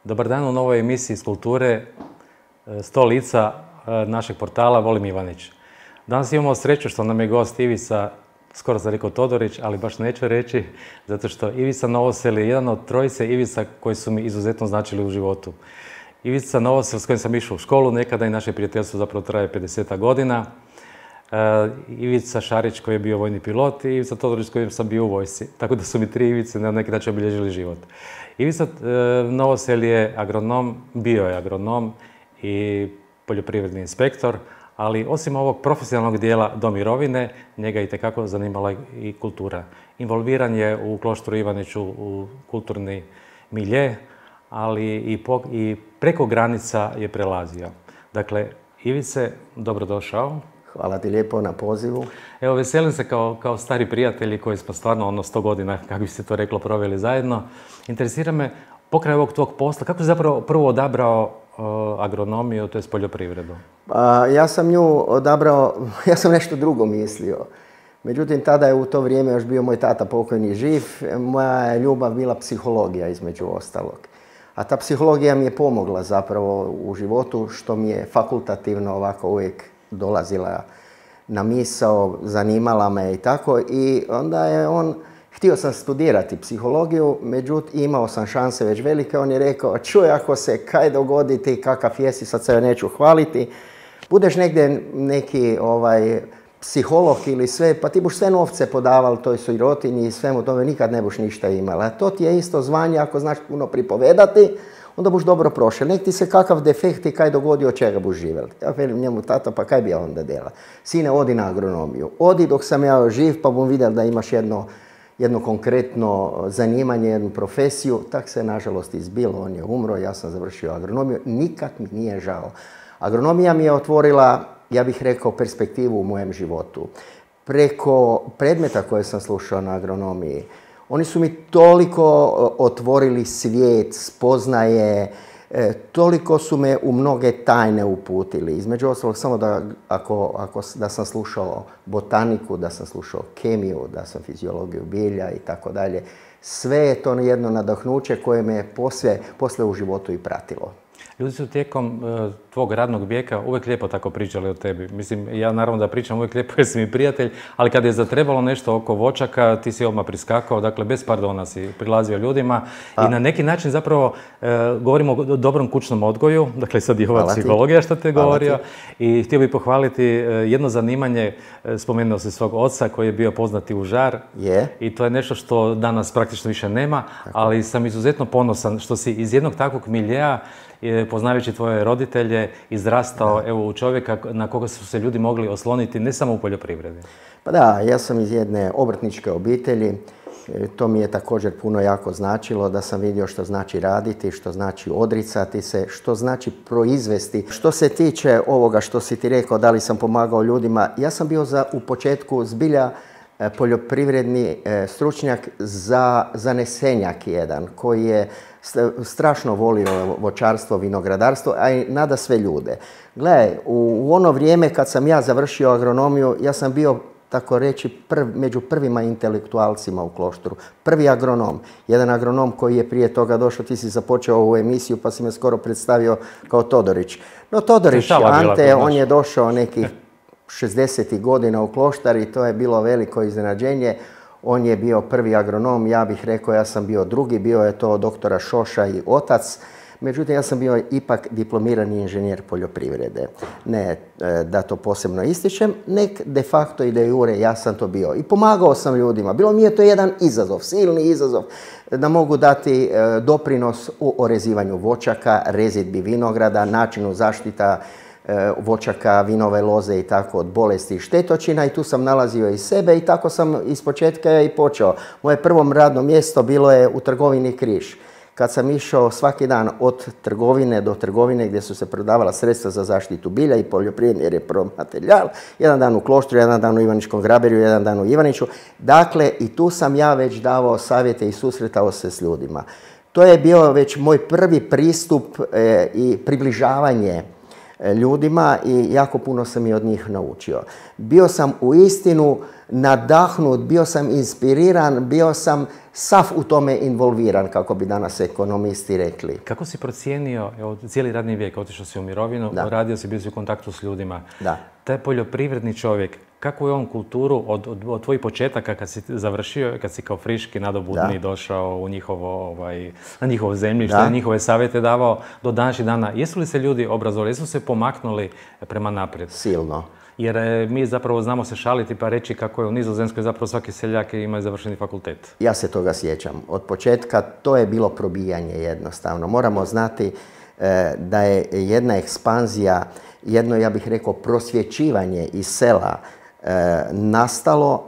Dobar dan u novoj emisiji iz kulture 100 lica našeg portala Volim Ivanić. Danas imamo sreću što nam je gost Ivica, skoro sam rekao Todorić, ali baš neću reći, zato što Ivica Novosel je jedan od trojice Ivica koji su mi izuzetno značili u životu. Ivica Novosel s kojim sam išao u školu nekada i naše prijateljstvo zapravo traje 50 godina. Ivica Šarić koji je bio vojni pilot i Ivica Todorić s kojim sam bio u vojsci. Tako da su mi tri Ivice na neki način obilježili život. Ivica Novosel je agronom, bio je agronom i poljoprivredni inspektor, ali osim ovog profesionalnog dijela do mirovine, njega je itekako zanimala i kultura. Involviran je u Kloštru Ivaniću u kulturni milje, ali i preko granica je prelazio. Dakle, Ivice, dobrodošao. Hvala ti lijepo na pozivu. Evo, veselim se kao stari prijatelji koji smo stvarno 100 godina, kako bi se to reklo, proveli zajedno. Interesira me, pokraj ovog tvog posla, kako si zapravo prvo odabrao agronomiju, to je poljoprivredu? Ja sam nju odabrao, ja sam nešto drugo mislio. Međutim, tada je u to vrijeme još bio moj tata pokojni živ. Moja je ljubav bila psihologija, između ostalog. A ta psihologija mi je pomogla zapravo u životu, što mi je fakultativno ovako uvijek dolazila na misao, zanimala me i tako. I onda je htio sam studirati psihologiju, međutim imao sam šanse već velike. On je rekao, čuj, ako se kaj dogoditi, kakav jesi, sad se neću hvaliti, budeš negdje neki psiholog ili sve, pa ti buš sve novce podavali toj sirotinji i svemu tome, nikad ne buš ništa imala. To ti je isto zvanje, ako znaš puno pripovedati, onda buš dobro prošel. Nek ti se kakav defekt i kaj dogodi, od čega buš živjeli. Ja velim njemu, tata, pa kaj bi ja onda dela? Sine, odi na agronomiju. Odi dok sam ja živ, pa bom vidjel da imaš jedno konkretno zanimanje, jednu profesiju. Tak se, nažalost, izbilo. On je umro, ja sam završio agronomiju. Nikad mi nije žao. Agronomija mi je otvorila, ja bih rekao, perspektivu u mojem životu. Preko predmeta koje sam slušao na agronomiji, oni su mi toliko otvorili svijet, spoznaje, toliko su me u mnoge tajne uputili. Između ostalog, samo da sam slušao botaniku, da sam slušao kemiju, da sam fiziologiju bilja i tako dalje. Sve je to jedno nadahnuće koje me posle u životu i pratilo. Ljudi su tijekom tvog radnog vijeka uvijek lijepo tako pričali o tebi. Mislim, ja naravno da pričam uvijek lijepo jer si mi prijatelj, ali kad je zatrebalo nešto oko voćaka, ti si odmah priskakao, dakle bez pardona si prilazio ljudima i na neki način zapravo govorimo o dobrom kućnom odgoju, dakle sad je ova psihologija što te govorio i htio bih pohvaliti jedno zanimanje, spomenuo si svog oca koji je bio poznati u žar i to je nešto što danas praktično više nema, ali sam izuzetno ponosan što si iz jednog takvog miljeja, poznavajući tvoje roditelje, izrastao u čovjeka na koga su se ljudi mogli osloniti, ne samo u poljoprivredi. Pa da, ja sam iz jedne obrtničke obitelji. To mi je također puno jako značilo, da sam vidio što znači raditi, što znači odricati se, što znači proizvesti. Što se tiče ovoga što si ti rekao, da li sam pomagao ljudima, ja sam bio u početku zbilja poljoprivredni stručnjak za zanesenjak jedan, koji je strašno volio voćarstvo, vinogradarstvo, a i nada sve ljude. Gledaj, u ono vrijeme kad sam ja završio agronomiju, ja sam bio, tako reći, među prvima intelektualcima u Kloštru. Prvi agronom. Jedan agronom koji je prije toga došao, ti si započeo ovu emisiju pa si me skoro predstavio kao Todorić. No Todorić, Ante, on je došao nekih 60. godina u Kloštar i to je bilo veliko iznenađenje. On je bio prvi agronom, ja bih rekao ja sam bio drugi, bio je to doktora Šoša i otac. Međutim, ja sam bio ipak diplomirani inženjer poljoprivrede. Ne da to posebno ističem, nek de facto i de jure ja sam to bio. I pomagao sam ljudima. Bilo mi je to jedan izazov, silni izazov, da mogu dati doprinos u orezivanju voćaka, rezidbi vinograda, načinu zaštita voćaka, vinove loze i tako od bolesti i štetočina i tu sam nalazio i sebe i tako sam ispočetka i počeo. Moje prvo radno mjesto bilo je u trgovini Križ. Kad sam išao svaki dan od trgovine do trgovine gdje su se prodavala sredstva za zaštitu bilja i poljoprivredni repromaterijal, jedan dan u Kloštru, jedan dan u Ivaničkom Graberju, jedan dan u Ivaniću. Dakle, i tu sam ja već davao savjete i susretao se s ljudima. To je bio već moj prvi pristup i približavanje ljudima i jako puno sam i od njih naučio. Bio sam uistinu nadahnut, bio sam inspiriran, bio sam sav u tome involviran, kako bi danas ekonomisti rekli. Kako si procijenio, evo, cijeli radni vijek, otišao si u mirovinu, radio si, bio si u kontaktu s ljudima. Da. Taj poljoprivredni čovjek, kakvu je on kulturu od tvojih početaka kad si završio, kad si kao friški nadobudni došao u njihovo, na njihovo zemljište, njihove savjete davao do današnjih dana. Jesu li se ljudi obrazovali, jesu se pomaknuli prema naprijed? Silno. Jer mi zapravo znamo se šaliti pa reći kako je u Nizozemskoj zapravo svaki seljak ima završeni fakultet. Ja se toga sjećam. Od početka to je bilo probijanje jednostavno. Moramo znati da je jedna ekspanzija, jedno, ja bih rekao, prosvjećivanje iz sela nastalo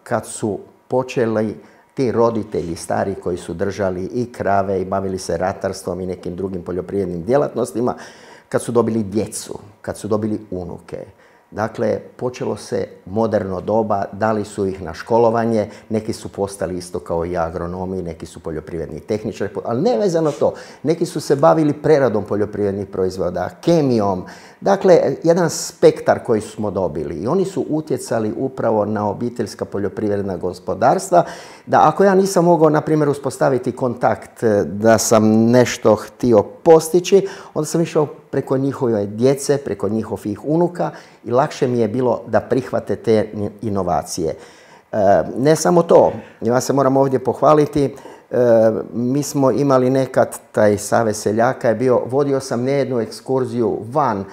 kad su počeli ti roditelji stari koji su držali i krave i bavili se ratarstvom i nekim drugim poljoprivrednim djelatnostima, kad su dobili djecu, kad su dobili unuke. Dakle, počelo se moderno doba, dali su ih na školovanje, neki su postali isto kao i agronomi, neki su poljoprivredni tehničari, ali ne vezano to. Neki su se bavili preradom poljoprivrednih proizvoda, kemijom, dakle, jedan spektar koji smo dobili. I oni su utjecali upravo na obiteljska poljoprivredna gospodarstva, da ako ja nisam mogao, na primjer, uspostaviti kontakt, da sam nešto htio postići, onda sam išao preko njihove djece, preko njihovih unuka i lakše mi je bilo da prihvate te inovacije. Ne samo to, ja se moram ovdje pohvaliti, mi smo imali nekad, taj Savez seljaka je bio, vodio sam nejednu ekskurziju van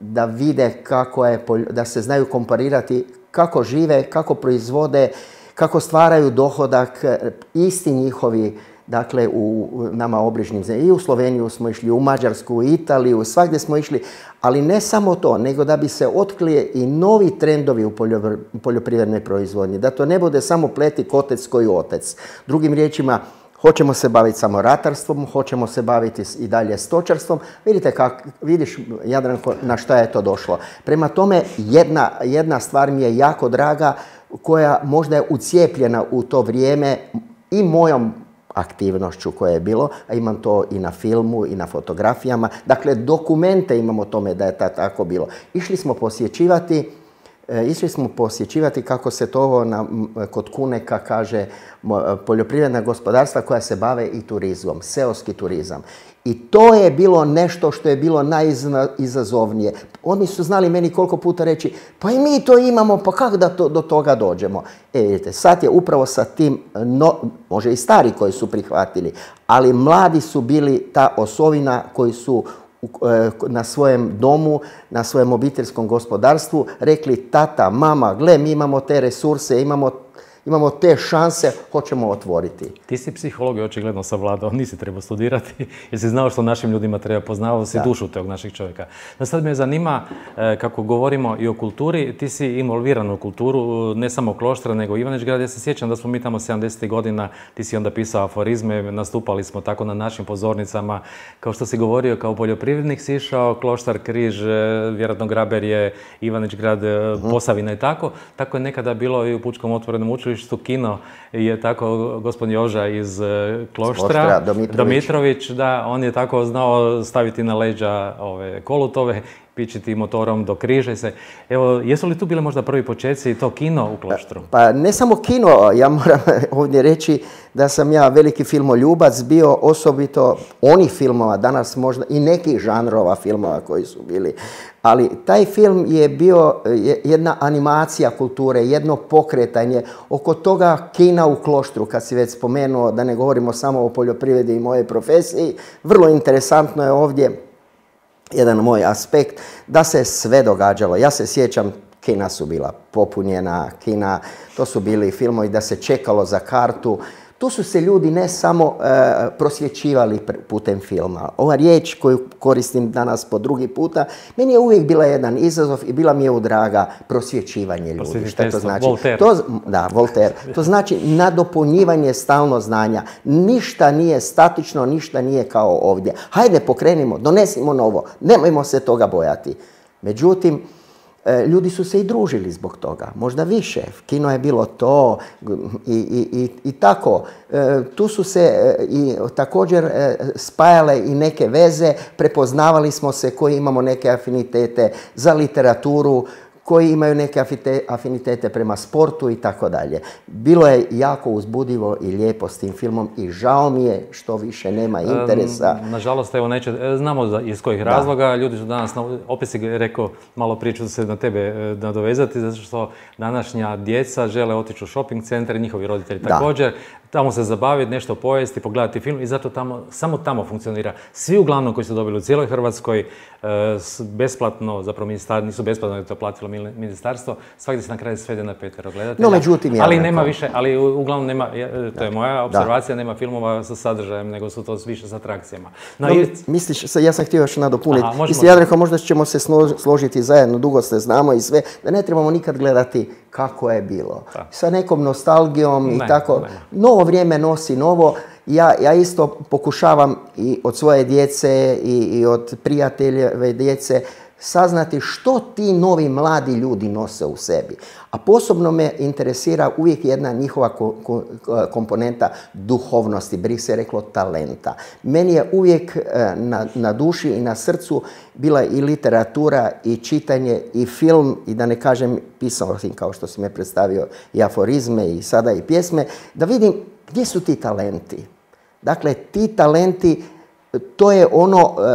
da vide kako je, da se znaju komparirati kako žive, kako proizvode, kako stvaraju dohodak, isti njihovi, dakle, u nama obližnjim zemljama. I u Sloveniju smo išli, u Mađarsku, u Italiju, svagdje smo išli, ali ne samo to, nego da bi se otkrili i novi trendovi u poljoprivrednoj proizvodnji. Da to ne bude samo pleti kotec koji otec. Drugim riječima, hoćemo se baviti samo ratarstvom, hoćemo se baviti i dalje stočarstvom. Vidite vidiš, Jadranko, na šta je to došlo. Prema tome, jedna stvar mi je jako draga, koja možda je ucijepljena u to vrijeme i mojom aktivnošću koje je bilo, a imam to i na filmu i na fotografijama. Dakle, dokumente imamo o tome da je tako bilo. Išli smo posjećivati, kako se to kod Kuneka kaže, poljoprivredna gospodarstva koja se bave i turizmom, seoski turizam. I to je bilo nešto što je bilo najizazovnije. Oni su znali meni koliko puta reći, pa i mi to imamo, pa kako da do toga dođemo? Vidite, sad je upravo sa tim, može i stari koji su prihvatili, ali mladi su bili ta osovina koji su na svojem domu, na svojem obiteljskom gospodarstvu rekli, tata, mama, gle, mi imamo te resurse, imamo te šanse, hoćemo otvoriti. Ti si psiholog i očigledno savladao, nisi trebao studirati, jer si znao što našim ljudima treba, poznavao si dušu tog našeg čovjeka. No sad me zanima, kako govorimo i o kulturi, ti si involviran u kulturu, ne samo Kloštra, nego Ivanić Grad. Ja se sjećam da smo mi tamo 70. godina, ti si onda pisao aforizme, nastupali smo tako na našim pozornicama. Kao što si govorio, kao poljoprivrednik si išao, Kloštar, Križ, vjerojatno Graber je, Ivanić Grad, Posavina i tako. Tako je nekada bilo i u Pučkom otvorenom učilištu, kino je tako gospodin Joža iz Kloštra, Domitrović, da, on je tako znao staviti na leđa kolutove, pičiti motorom do Križa. Evo, jesu li tu bile možda prvi početci i to kino u Kloštru? Pa ne samo kino, ja moram ovdje reći da sam ja veliki filmoljubac bio, osobito onih filmova, danas možda i nekih žanrova filmova koji su bili. Ali taj film je bio jedna animacija kulture, jedno pokretanje oko toga kina u Kloštru, kad si već spomenuo, da ne govorimo samo o poljoprivredi i mojej profesiji. Vrlo interesantno je ovdje jedan moj aspekt, da se sve događalo. Ja se sjećam, kina su bila popunjena, to su bili filmovi da se čekalo za kartu. Tu su se ljudi ne samo prosvjećivali putem filma. Ova riječ koju koristim danas po drugi puta, meni je uvijek bila jedan izazov i bila mi je draga prosvjećivanje ljudi. Šta to znači? Voltaire. Voltaire. To znači nadopunjivanje stalno znanja. Ništa nije statično, ništa nije kao ovdje. Hajde, pokrenimo, donesimo novo, nemojmo se toga bojati. Međutim, Ljudi su se i družili zbog toga, možda više. Kino je bilo to i tako. Tu su se i također spajale i neke veze, prepoznavali smo se koji imamo neke afinitete za literaturu, koji imaju neke afinitete prema sportu i tako dalje. Bilo je jako uzbudivo i lijepo s tim filmom i žao mi je što više nema interesa. Nažalost, evo znamo iz kojih razloga. Ljudi su danas, opet si rekao, malo prije ću se na tebe nadovezati, zato što današnja djeca žele otići u shopping centar i njihovi roditelji također. Tamo se zabaviti, nešto pojesti, pogledati film i zato samo tamo funkcionira. Svi uglavnom koji su dobili u cijeloj Hrvatskoj besplatno, zapravo nisu besplatno, je to platilo ministarstvo, svakdje se na kraju svede na 5 gledatelja. No, međutim, ali nema više, ali uglavnom nema, to je moja observacija, nema filmova sa sadržajem, nego su to više s atrakcijama. Misliš, ja sam htio još nadopuniti, ja rekao, možda ćemo se složiti zajedno, dugo se znamo i sve, da ne trebamo nikad gledati kako je bilo. Sa nekom nostalgijom i tako. Novo vrijeme nosi novo. Ja isto pokušavam i od svoje djece i od prijateljeve djece saznati što ti novi mladi ljudi nose u sebi. A posebno me interesira uvijek jedna njihova komponenta duhovnosti, bi se reklo talenta. Meni je uvijek na duši i na srcu bila i literatura i čitanje i film i da ne kažem pisao sam kao što si me predstavio i aforizme i sada i pjesme, da vidim gdje su ti talenti. Dakle, ti talenti, to je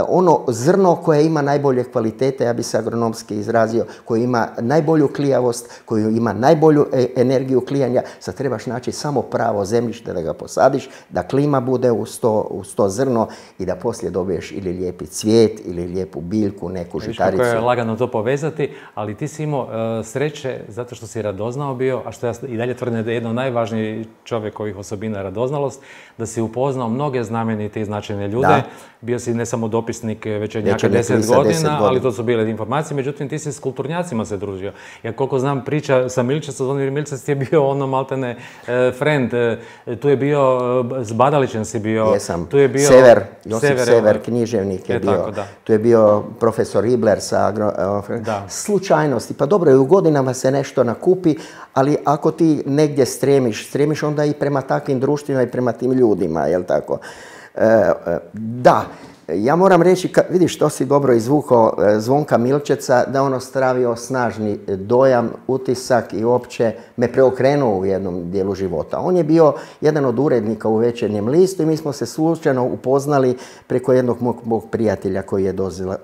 ono zrno koje ima najbolje kvalitete, ja bi se agronomski izrazio, koje ima najbolju klijavost, koju ima najbolju energiju klijanja. Sad trebaš naći samo pravo zemljište da ga posadiš, da klima bude uz to zrno i da poslije dobiješ ili lijepi cvijet ili lijepu biljku, neku žitaricu. Kako je lagano to povezati, ali ti si imao sreće zato što si radoznao bio, a što ja i dalje tvrdim da je jedno najvažnijih čovjekovih osobina radoznalost, da si upoznao mnoge znamenite i značajne ljude. Bio si ne samo dopisnik Večernjaka 10 godina, ali to su bile informacije, međutim ti si s kulturnjacima se družio. Ja koliko znam priča sa Milčecom, Zvonimir Milčec ti je bio ono maltene friend, tu je bio, s Badalićem si bio. Jesam, Sever, Josip Sever, književnik je bio. Tu je bio profesor Ibler sa slučajnosti. Pa dobro, i u godinama se nešto nakupi, ali ako ti negdje stremiš onda i prema takvim društvima i prema tim ljudima, jel tako? Da, ja moram reći, vidiš što si dobro izvukao Zvonka Milčeca, da on ostavio snažni dojam, utisak i uopće me preokrenuo u jednom dijelu života. On je bio jedan od urednika u Večernjem listu i mi smo se slučajno upoznali preko jednog mog prijatelja koji je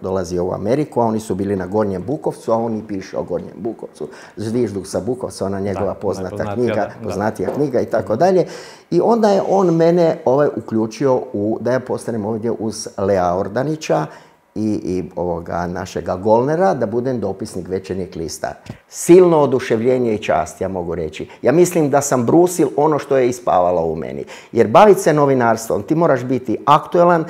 dolazio u Ameriku, a oni su bili na Gornjem Bukovcu, a on i piše o Gornjem Bukovcu. Zvižduk sa Bukovca, ona njegova poznatija knjiga i tako dalje. I onda je on mene uključio da ja postanem ovdje uz Lea Ordanića i ovoga našega Golnera, da budem dopisnik Večernjeg lista. Silno oduševljenje i čast, ja mogu reći. Ja mislim da sam brusil ono što je ispavalo u meni. Jer baviti se novinarstvom, ti moraš biti aktualan,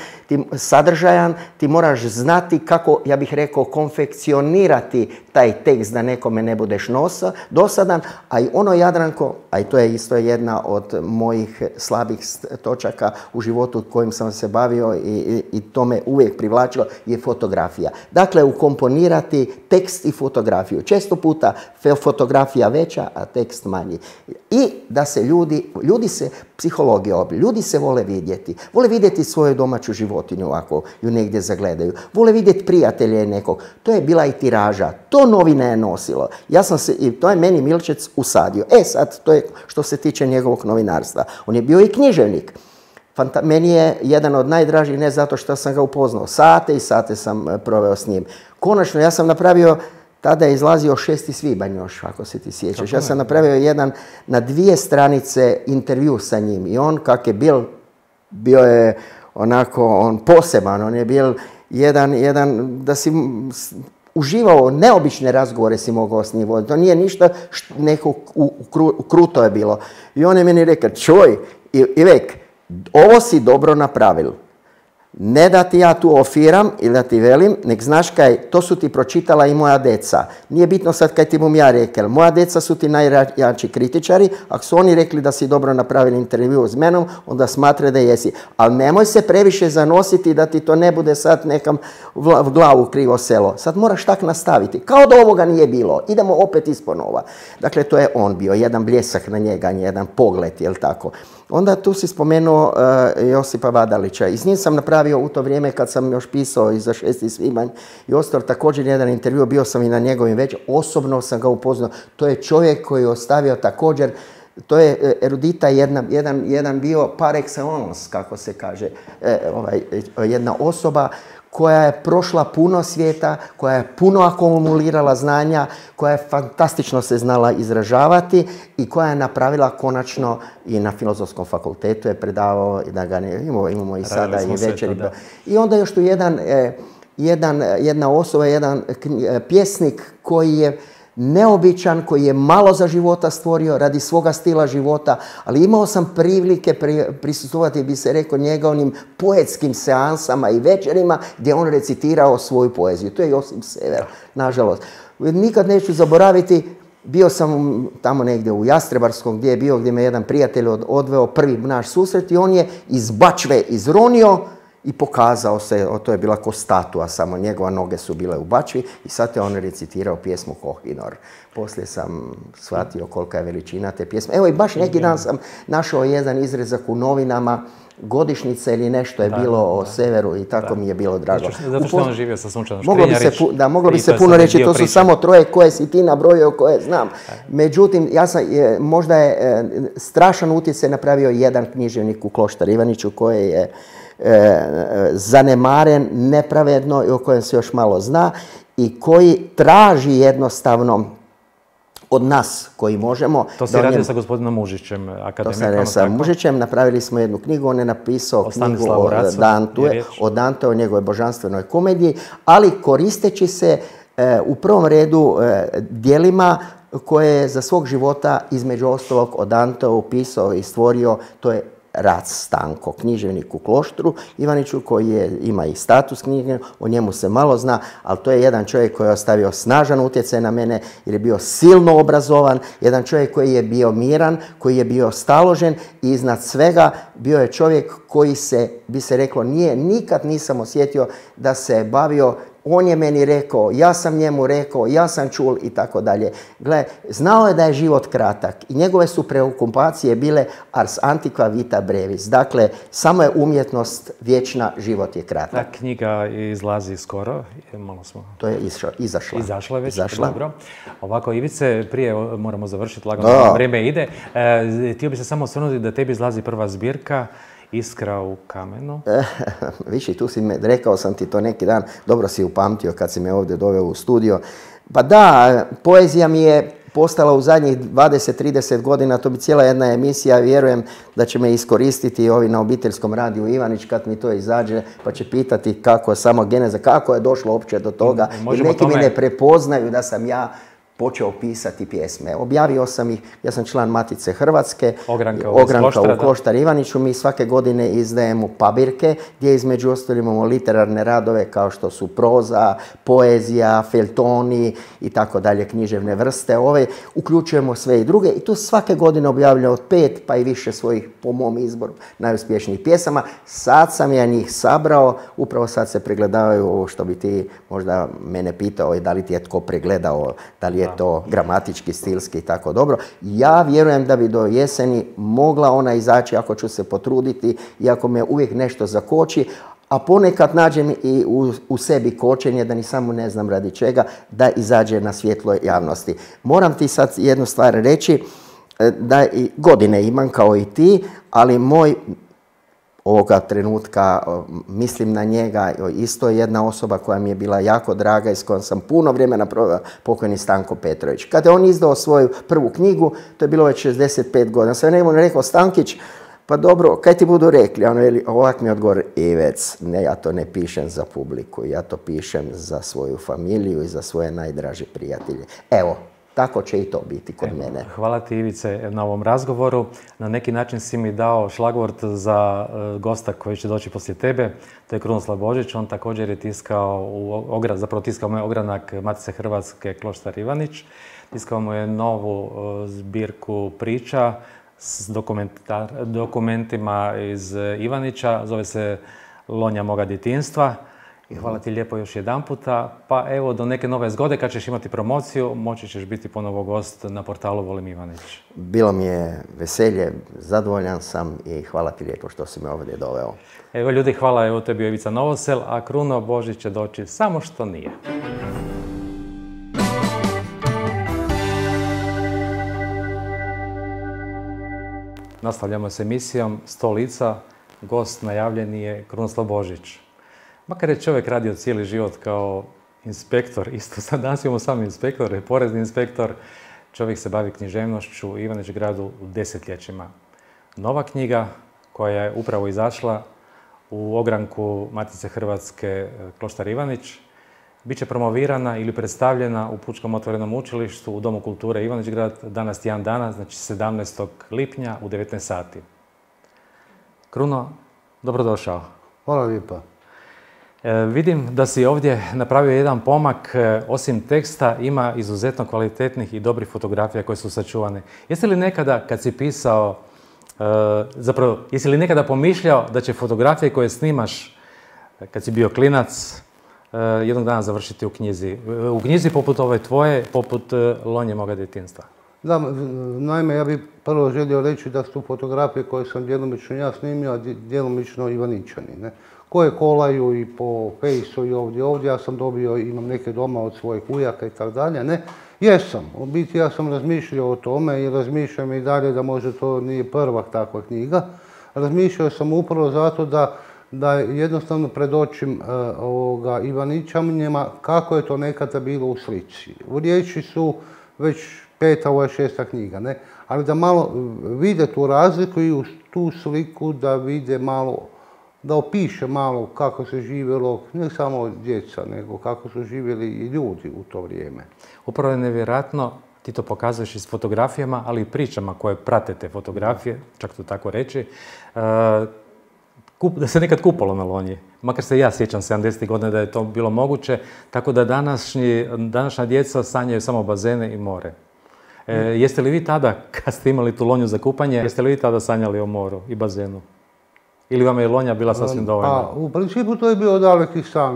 sadržajan, ti moraš znati kako, ja bih rekao, konfekcionirati taj tekst da nekome ne budeš dosadan, a i ono, Jadranko, a i to je isto jedna od mojih slabih točaka u životu kojim sam se bavio i to me uvijek privlačilo, je fotografija. Dakle, ukomponirati tekst i fotografiju. Često puta fotografija veća, a tekst manji. I da se psihologija, ljudi se vole vidjeti svoju domaću životinju ako ju negdje zagledaju, vole vidjeti prijatelje nekog. To je bila i tiraža, to novine je nosilo. I to je meni Milčec usadio. Sad, to je što se tiče njegovog novinarstva. On je bio i književnik. Meni je jedan od najdražih, ne zato što sam ga upoznao, sate i sate sam proveo s njim. Konačno, ja sam napravio, tada je izlazio 6. svibanj još, ako se ti sjećaš. Ja sam napravio jedan na 2 stranice intervju sa njim i on kak je bio je onako poseban, on je bil jedan da si uživao, neobične razgovore si mogao s njim voditi. To nije ništa, neko kruto je bilo. I on je meni rekao, čuj, Ivek, ovo si dobro napravil. Ne da ti ja tu ofiram ili da ti velim, nek znaš kaj, to su ti pročitala i moja deca. Nije bitno sad kaj ti bom ja rekel. Moja deca su ti najjači kritičari. Ako su oni rekli da si dobro napravili intervju s menom, onda smatre da jesi. Ali nemoj se previše zanositi da ti to ne bude sad nekam v glavu krivo selo. Sad moraš tak nastaviti. Kao da ovoga nije bilo. Idemo opet isponova. Dakle, to je on bio. Jedan bljesak na njega, jedan pogled, jel tako. Onda tu si spomenuo Josipa Vadalića. I s njim sam napravio u to vrijeme kad sam još pisao i za 6. svibanj i ostao također jedan intervju, bio sam i na njegovim već. Osobno sam ga upoznao. To je čovjek koji je ostavio također, to je erudita, jedan bio par excellence, kako se kaže, jedna osoba koja je prošla puno svijeta, koja je puno akumulirala znanja, koja je fantastično se znala izražavati i koja je napravila konačno i na Filozofskom fakultetu je predavao, da ga ne imamo i sada i večeri. I onda još tu jedna osoba, jedan pjesnik koji je neobičan, koji je malo za života stvorio radi svoga stila života, ali imao sam prilike prisustvovati, bi se rekao, njegovim poetskim seansama i večerima gdje on recitirao svoju poeziju. To je Josip Sever, nažalost. Nikad neću zaboraviti, bio sam tamo negdje u Jastrebarskom gdje me jedan prijatelj odveo, prvi naš susret, i on je iz bačve izronio i pokazao se, to je bila ko statua, samo njegove noge su bile u bačvi i sad je on recitirao pjesmu Kohinor. Poslije sam shvatio kolika je veličina te pjesme. Evo i baš neki dan sam našao jedan izrezak u novinama, godišnjice ili nešto je bilo o Severu i tako mi je bilo drago. Zato što on živio sa Sunčanom Škrinjarić. Moglo bi se puno reći, to su samo troje koje si ti nabrojio, koje znam. Međutim, možda je strašan utjecaj napravio jedan književnik u Kloštar Ivaniću koji je zanemaren, nepravedno i o kojem se još malo zna i koji traži jednostavno od nas koji možemo. To si radio sa gospodinom Mužićem, akademikom. To sam radio sa Mužićem, napravili smo jednu knjigu, on je napisao knjigu o Dante, o njegovoj božanstvenoj komediji, ali koristeći se u prvom redu dijelima koje je za svog života između ostalog o Danteu upisao i stvorio, to je Rac Stanko, književnik u Kloštru Ivaniću koji ima i status književnika, o njemu se malo zna, ali to je jedan čovjek koji je ostavio snažan utjecaj na mene jer je bio silno obrazovan, jedan čovjek koji je bio miran, koji je bio staložen i iznad svega bio je čovjek koji se, bi se reklo, nikad nisam osjetio da se bavio. On je meni rekao, ja sam njemu rekao, ja sam čul i tako dalje. Gle, znao je da je život kratak i njegove su preokupacije bile ars antiqua vita brevis. Dakle, samo je umjetnost vječna, život je kratak. Ta knjiga izlazi skoro. To je izašla. Izašla je već, dobro. Ovako, Ivice, prije moramo završiti, lagano vrijeme ide. Htio bi se samo osvrnuti da tebi izlazi prva zbirka Iskra u kamenu. Viši, tu si rekao sam ti to neki dan, dobro si upamtio kad si me ovdje doveo u studio. Pa da, poezija mi je postala u zadnjih 20-30 godina, to bi cijela jedna emisija, vjerujem da će me iskoristiti ovi na obiteljskom radiju Ivanić kad mi to izađe, pa će pitati kako je samo geneza, kako je došlo uopće do toga. I neki mi ne prepoznaju da sam ja počeo pisati pjesme. Objavio sam ih, ja sam član Matice Hrvatske, Ogranka u Kloštar Ivaniću. Mi svake godine izdajemo pabirke gdje između ostalog imamo literarne radove kao što su proza, poezija, feljtoni i tako dalje, književne vrste. Uključujemo sve i druge i tu svake godine objavljamo od 5 pa i više svojih, po mom izboru, najuspješnijih pjesama. Sad sam ja njih sabrao, upravo sad se pregledavaju ovo što bi ti možda mene pitao i da li ti je tko pregledao, da li je to gramatički, stilski i tako dobro. Ja vjerujem da bi do jeseni mogla ona izaći ako ću se potruditi i ako me uvijek nešto zakoči, a ponekad nađem i u sebi kočenje, da ni samo ne znam radi čega, da izađe na svjetlo javnosti. Moram ti sad jednu stvar reći, da godine imam kao i ti, ali moj ovoga trenutka, mislim na njega, isto je jedna osoba koja mi je bila jako draga i s kojom sam puno vremena proveo, pokojni Stanko Petrović. Kada je on izdao svoju prvu knjigu, to je bilo već 65 godina, sam njemu rekao, Stankić, pa dobro, kaj ti budu rekli? On veli, ovak mi odgovor, Ivec, ne, ja to ne pišem za publiku, ja to pišem za svoju familiju i za svoje najdraže prijatelje. Evo, Tako će i to biti kod mene. Hvala ti, Ivice, na ovom razgovoru. Na neki način si mi dao šlagvort za gosta koji će doći poslije tebe. To je Krunoslav Božić. On također je tiskao tiskao mu je ogranak Matice Hrvatske Kloštar Ivanić. Tiskao mu je novu zbirku priča s dokumentima iz Ivanića. Zove se Lonja moga djetinjstva. I hvala ti lijepo još jedanputa. Pa evo, do neke nove zgode, kad ćeš imati promociju, moći ćeš biti ponovo gost na portalu Volim Ivanić. Bilo mi je veselje, zadovoljan sam i hvala ti lijepo što si me ovdje doveo. Evo ljudi, hvala, evo to je bio Ivica Novosel, a Kruno Božić će doći samo što nije. Nastavljamo s emisijom 100 lica. Gost najavljeni je Krunoslav Božić. Makar je čovjek radio cijeli život kao inspektor, isto sad danas imamo sam inspektor, je porezni inspektor, čovjek se bavi književnošću u Ivanić gradu u desetljećima. Nova knjiga koja je upravo izašla u ogranku Matice Hrvatske Kloštar Ivanić bit će promovirana ili predstavljena u Pučkom otvorenom učilištu u Domu kulture Ivanić grad danas tjedan dana, znači 17. lipnja u 19 sati. Kruno, dobrodošao. Hvala lijepa. Vidim da si ovdje napravio jedan pomak, osim teksta ima izuzetno kvalitetnih i dobrih fotografija koje su sačuvane. Jesi li nekada kad si pisao, jesi li nekada pomišljao da će fotografije koje snimaš kad si bio klinac jednog dana završiti u knjizi? U knjizi poput ove tvoje, poput Lonje moga djetinjstva. Da, naime, ja bih prvo želio reći da su fotografije koje sam djelomično ja snimio, a djelomično Ivaničani, ne? Koje kolaju i po fejsu i ovdje, ja sam dobio, imam neke doma od svojih ujaka i tako dalje, ne? Jesam, u biti ja sam razmišljao o tome i razmišljam i dalje da možda to nije prva takva knjiga. Razmišljao sam upravo zato da jednostavno predočim Ivaničanima kako je to nekada bilo u slici. U riječi su već 5. ovo je 6. knjiga, ne? Ali da malo vide tu razliku i uz tu sliku da vide malo, da opiše malo kako se živjelo, ne samo djeca, nego kako su živjeli i ljudi u to vrijeme. Upravo je nevjerojatno, ti to pokazuješ i s fotografijama, ali i pričama koje prate te fotografije, čak to tako reći, da se nekad kupalo na Lonji. Makar se ja sjećam 70. godina da je to bilo moguće, tako da današnja djeca sanjaju samo bazene i more. Jeste li vi tada, kad ste imali tu Lonju za kupanje, jeste li vi tada sanjali o moru i bazenu? Ili vam je Lonja bila sasvim dovoljna? U principu to je bio daleki san.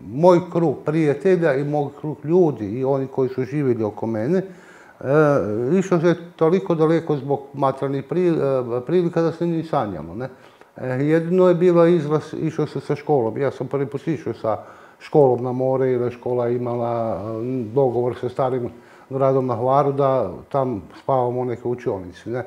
Moj krug prijatelja i moj krug ljudi i oni koji su živjeli oko mene, išao se toliko daleko zbog materijalnih prilika da se ni sanjamo, ne? Jedino je bila izlaz, išao se sa školom. Ja sam prvi put išao sa školom na more jer je škola imala dogovor sa starim gradom na Hvaru da tam spavamo u neke učionici, ne?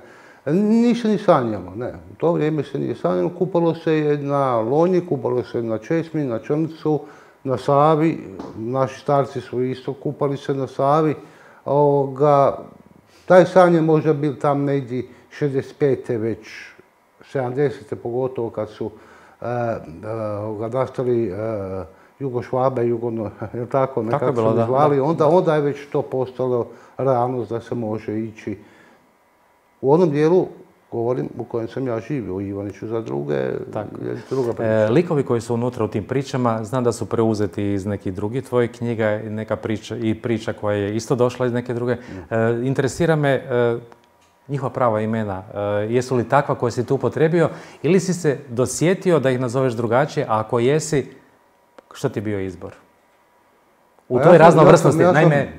Ništa ni sanjamo, ne. U to vrijeme se nije sanjalo. Kupalo se je na Lonji, kupalo se na Česmi, na Črncu, na Savi. Naši starci su isto kupali se na Savi. Taj san je možda bil tam negdje 65. već 70. pogotovo kad su nastali Jugošvabe, je tako, nekako su zvali, onda je već to postalo realnost da se može ići u onom dijelu, govorim, u kojem sam ja živio, u Ivaniću, za druga priča. Likovi koji su unutra u tim pričama, znam da su preuzeti iz nekih drugih tvojih knjiga i priča koja je isto došla iz neke druge. Interesira me njihova prava imena. Jesu li takva koje si tu upotrijebio ili si se dosjetio da ih nazoveš drugačije, a ako jesi, što ti je bio izbor? U toj raznovrsnosti, naime...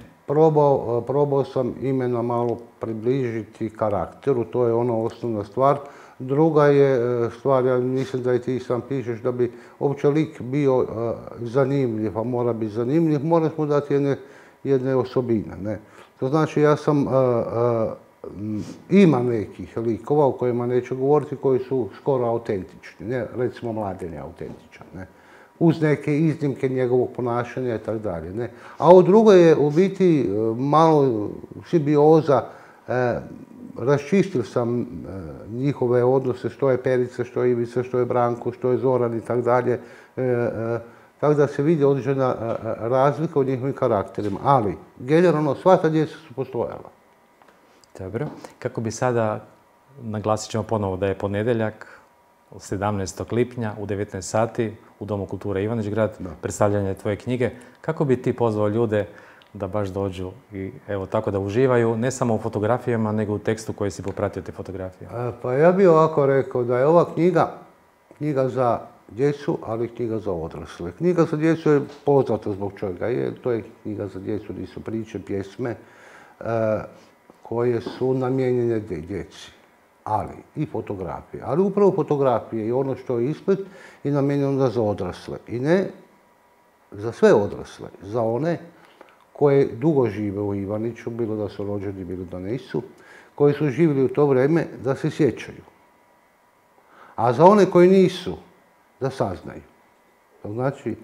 Probao sam imena malo približiti karakteru, to je ona osnovna stvar. Druga je stvar, ja mislim da i ti sam pišeš, da bi uopće lik bio zanimljiv, a mora biti zanimljiv, moraš mu dati jedne osobine, ne? To znači, ja sam, ima nekih likova o kojima neću govoriti, koji su skoro autentični, ne? Recimo Mladen je autentičan, ne? Uz neke iznimke njegovog ponašanja i tako dalje, ne? A u drugoj je u biti malo simbioza, raščistio sam njihove odnose, što je Perica, što je Ivica, što je Branko, što je Zoran i tako dalje. tako da se vidi određena razlika u njihovim karakterima. Ali, generalno, sva ta djeca su postojala. Dobro. Kako bi sada, naglasit ćemo ponovo da je ponedjeljak, 17. lipnja u 19 sati u Domu kulture Ivanić-Grad, predstavljanje tvoje knjige. Kako bi ti pozvao ljude da baš dođu i evo tako da uživaju, ne samo u fotografijama, nego u tekstu koji si popratio te fotografije? Pa ja bih ovako rekao da je ova knjiga za djecu, ali knjiga za odrasle. Knjiga za djecu je poznata zbog čega je. To je knjiga za djecu gdje su priče, pjesme koje su namijenjene djeci, ali i fotografije. Ali upravo fotografije i ono što je ispred je namijenjeno za odrasle. I ne za sve odrasle, za one koje dugo žive u Ivaniću, bilo da su rođeni, bilo da nisu, koji su živjeli u to vrijeme, da se sjećaju. A za one koji nisu, da saznaju. To znači,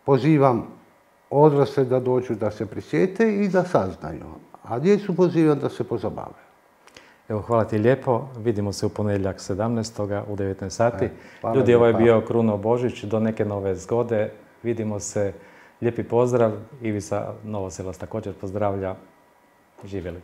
pozivam odrasle da dođu da se prisjete i da saznaju. A djecu pozivam da se pozabave. Evo, hvala ti lijepo. Vidimo se u ponedjeljak 17. u 19 sati. Hvala Ljudi, ovo je lijepa. bio Kruno Božić. Do neke nove zgode. Vidimo se. Lijepi pozdrav. Ivica Novoselac također pozdravlja. Živjeli.